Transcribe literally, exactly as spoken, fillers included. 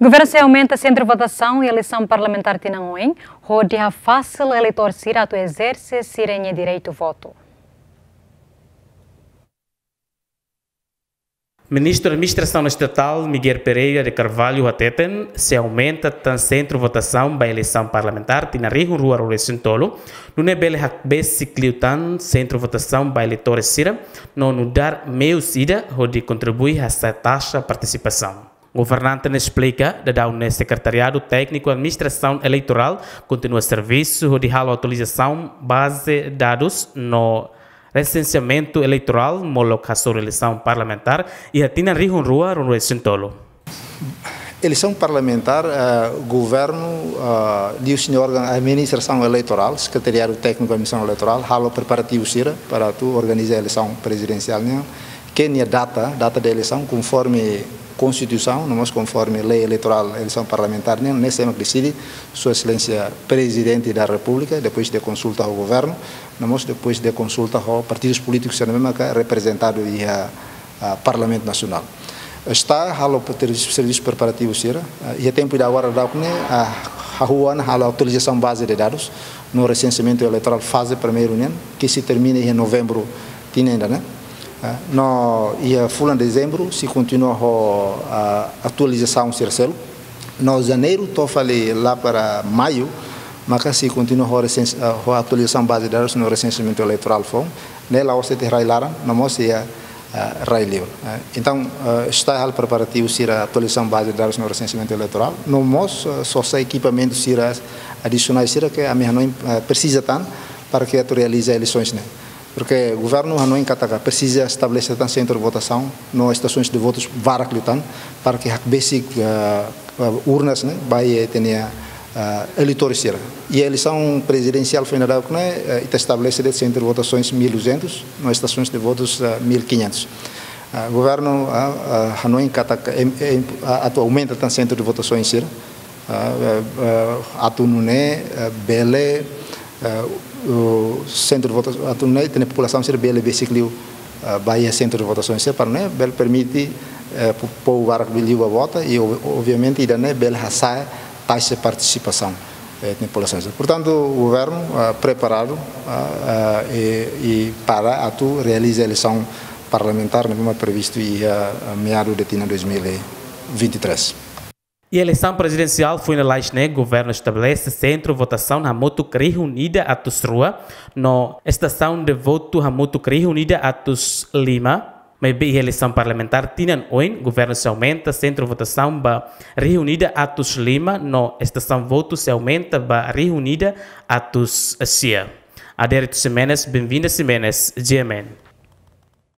Governu sei aumenta sentru votasaun iha eleisaun parlamentár tinan oin, hodi hafasil eleitór sira atu ezerse sira-nia direitu votu. Ministru Administrasaun Estatál Miguel Pereira de Carvalho hateten, sei aumenta tan sentru votasaun ba eleisaun parlamentár tinan rihun rua ruanulu resin tolu, nune'e bele hakbesik liután sentru votasaun ba eleitór sira, no nu'udar meius ida hodi kontribui hasa'e taxa partisipasaun. Governante ne'e esplika, daudaun ne'e Sekretariadu Tékniku Administrasaun Eleitorál kontinua servisu hodi halo atualizasaun baze dadus no resenseamentu eleitorál molok hasoru eleisaun parlamentár iha tinan rihun rua ruanulu resin tolu. Eleisaun parlamentár, eh, governu, eh, liuhusi nia órgaun administrasaun eleitorál, Sekretariadu Tékniku Administrasaun Eleitorál, halo preparativu sira para atu organiza eleisaun prezidensiál nian, ke nia data, data de eleisaun, konforme Konstituisaun, no mós konforme lei eleitorál, eleisaun parlamentár nian, ne'e sé mak deside, Sua Exelénsia Prezidente da Repúblika, depois de konsulta ho governu, no mós depois de konsulta ho partidus polítikus sira ne'ebé maka reprezentadu iha, ah, Parlamentu Nasionál. STAE halo pre-, servisu preparativu sira, ah, iha tempu ida agora daudaun ne'e, ah, hahú ona halo atualizasaun baze de dadus, no resenseamentu eleitorál faze primeiru nian, ke sei termina iha novembru tinan ida-ne'e. Ah, no iha fulan dezembru sei kontinua ho, ah, atualizasaun sira seluk. No janeiru to'o fali lá para maiu, maka sei kontinua ho resens-, ah, ho atualizasaun baze de dadus no resenseamentu eleitorál foun. Ne'e la'ós de'it iha rai-laran, no mós iha, ah, rai-liur. Ah, entaun, ah, STAE halo preparativu sira atualizasaun baze de dadus no resenseamentu eleitorál. No mós, ah, sosa ekipamentu sira adisionál sira ke ami hanoin, ah, presiza tan para ke atu realiza eleisoens ne'e. Porke governu hanoin katak presiza estabelese tan sentru votasaun no estasoens de votus barak liután para ke hakbesik, eh, eh, urnas ne'e ba iha ita-nia, eh, eleitór sira. Iha eleisaun prezidensiál foin daudauk ne'e, eh, ita estabelese de'it sentru votasoens mil e duzentos, no estasoens de votus, eh, mil e quinhentos. Eh, governu, eh, eh, hanoin katak, em, em, eh, atu aumenta tan sentru de votasoens sira. Ah, eh, eh, atu nune'e, eh, bele, eh, o sentru de vota-, atu nune'e ita-nia populasaun sira bele besik liu, eh, ba iha sentru de votasaun sira para nune'e bele permite, eh, po-, povu barak liu ba vota i ob-, obviamente ida-ne'e bele hasa'e taxa partisipasaun, eh, ita-nia populasaun sira. Portantu, governu, ah, preparadu, ah, ah, i, i para atu realiza eleisaun parlamentár ne'ebé mak previstu iha, ah, meadu de tinan dois mil e vinte e três. Iha eleisaun prezidensiál foin lalais ne'e, governu estabelese sentru votasaun hamutuk rihun ida atus rua, no estasaun de votu hamutuk rihun ida atus lima. Maibé iha eleisaun parlamentár tinan oin, governu sei aumenta sentru votasaun ba rihun ida atus lima, no estasaun votu sei aumenta ba rihun ida atus sia. Adérito Ximenes, Benvinda Ximenes, G M N.